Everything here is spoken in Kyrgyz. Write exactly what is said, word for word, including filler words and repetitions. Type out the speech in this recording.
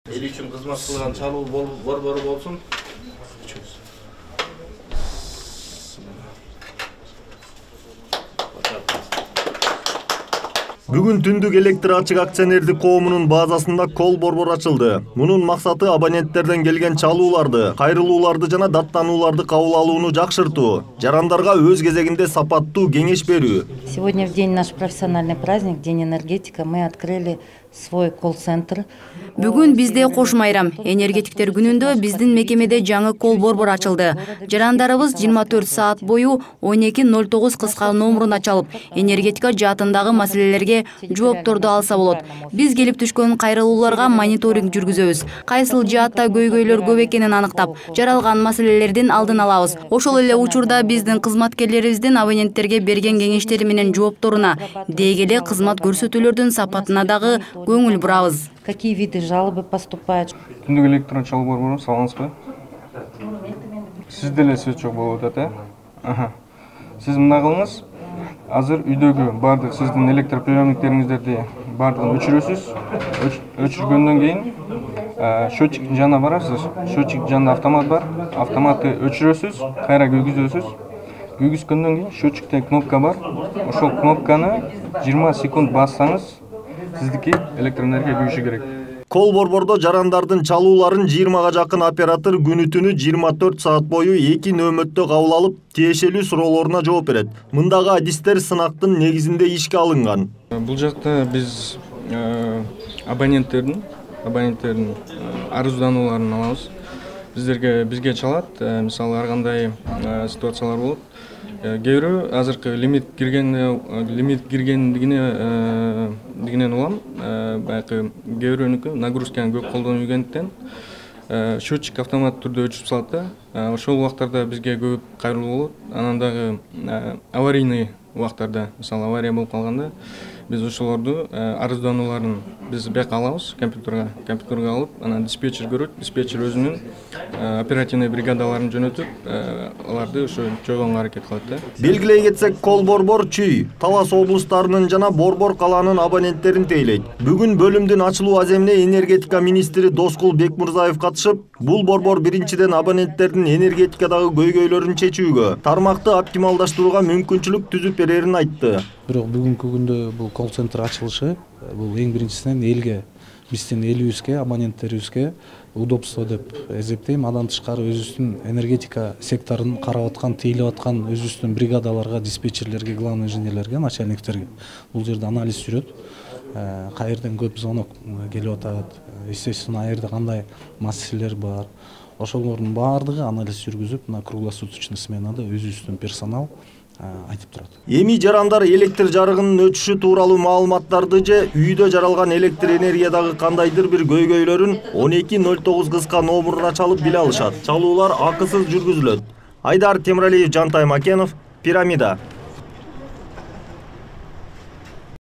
эл үчүн кызмат кылган чалуу борбору болсун. Бүгүн Түндүк электр ачык акционердик коомунун базасында кол борбор ачылды. Мунун максаты абоненттерден келген чалууларды, кайрылууларды жана даттанууларды кабыл алууну жакшыртуу, жарандарга өз кезегинде сапаттуу кеңеш берүү. Сегодня в день наш профессиональный праздник, День энергетика, мы открыли свой колл-центр. Бүгүн бизде кош майрам. Энергетиктер күнүндө биздин мекемеде жаңы кол борбор ачылды. Жарандарыбыз жыйырма төрт саат бою он эки ноль тогуз кыска номуруна чалып, энергетика жаатындагы маселелерге жоопторду алса болот. Биз келип түшкөн кайрылууларга мониторинг жүргүзөбүз. Кайсыл жаатта көйгөйлөр көп экенин аныктап, жаралган маселелердин алдын алабыз. Ошол эле учурда биздин кызматкерлерибиздин абоненттерге берген кеңештери менен жоопторуна, деги эле кызмат көрсөтүүлөрдүн сапатына дагы көңүл бурабыз. Какие виды жалобы поступают? Түндүк электр чалуу борбору, саламатсызбы? Сиз деле сөз жок болуп атат, э? Сиз мындай кылыңыз. Азыр үйдөгү бардык сиздин электр приемниктериңиздерди бардыгын өчүрөсүз. Өчүргөндөн кийин счетчик жанына барасыз. Счетчик жанында автомат бар. Автоматты өчүрөсүз, кайра күйгүзөсүз. Күйгүзгөндөн кийин счетчикте кнопка бар. Ошол кнопканы жыйырма секунд бассаңыз, сиздики электр энергия күйүшү керек. Кол борбордо жарандардын чалууларын жыйырмага жакын оператор күнү-түнү жыйырма төрт саат бою эки нөөмөттө кабыл алып, тиешелүү суроолоруна жооп берет. Мындагы адистер сынактын негизинде ишке алынган. Бул жакта биз абоненттердин абоненттердин арызданууларын алабыз. Биздерге бизге чалат, мисалы ар кандай ситуациялар болот. Кээ бирөө азыркы лимит кирген лимит киргендигине дигинен улам, баягы кээ бирөөнүкү нагрузканы көп колдонуп жүргөндүктөн счетчик автомат түрдө өчүп салат да. Ошол убактарда бизге көп кайрылуу болот. Анан дагы аварийный убактарда, мисалы авария болуп калганда, биз ошолорду арызданууларын биз бияка алабыз, компьютерга, компьютерга алып, анан диспетчер көрөт, диспетчер өзүнүн оперативный бригадаларын жөнөтүп, аларды ошо жойгонго аракет кылат да. Белгилей кетсек, кол борбор Чүй, Талас облустарынын жана Борбор калаанын абоненттерин тейлейт. Бүгүн бөлүмдүн ачылуу аземине энергетика министри Доскул Бекмурзаев катышып, бул борбор биринчиден абоненттердин энергетикадагы көйгөйлөрүн чечүүгө, тармакты оптималдаштырууга мүмкүнчүлүк түзүп берерин айтты. Бирок бүгүнкү күндө бул колл-центр ачылышы бул эң биринчисинен элге, биздин элибизге, абоненттерибизге удобство деп эсептейм. Андан тышкары өзүбүздүн энергетика секторун карап аткан, тейлеп аткан өзүбүздүн бригадаларга, диспетчерлерге, главный инженерлерге, начальниктерге бул жерде анализ жүрөт. Кайерден көп звонок келип атат, естественно, аерде кандай маселелер бар. Ошолордун баардыгы анализ жүргүзүп, мына круглосуточный сменада өзүбүздүн персонал айтып турат. Эми жарандар электр жарыгынын өчүшү тууралуу маалыматтарды же үйдө жаралган электр энергиядагы кандайдыр бир көйгөйлөрүн он эки ноль тогуз кыска номуруна чалып биле алышат. Чалуулар акысыз жүргүзүлөт. Айдар Темиралиев, Жантай Макенов, Пирамида.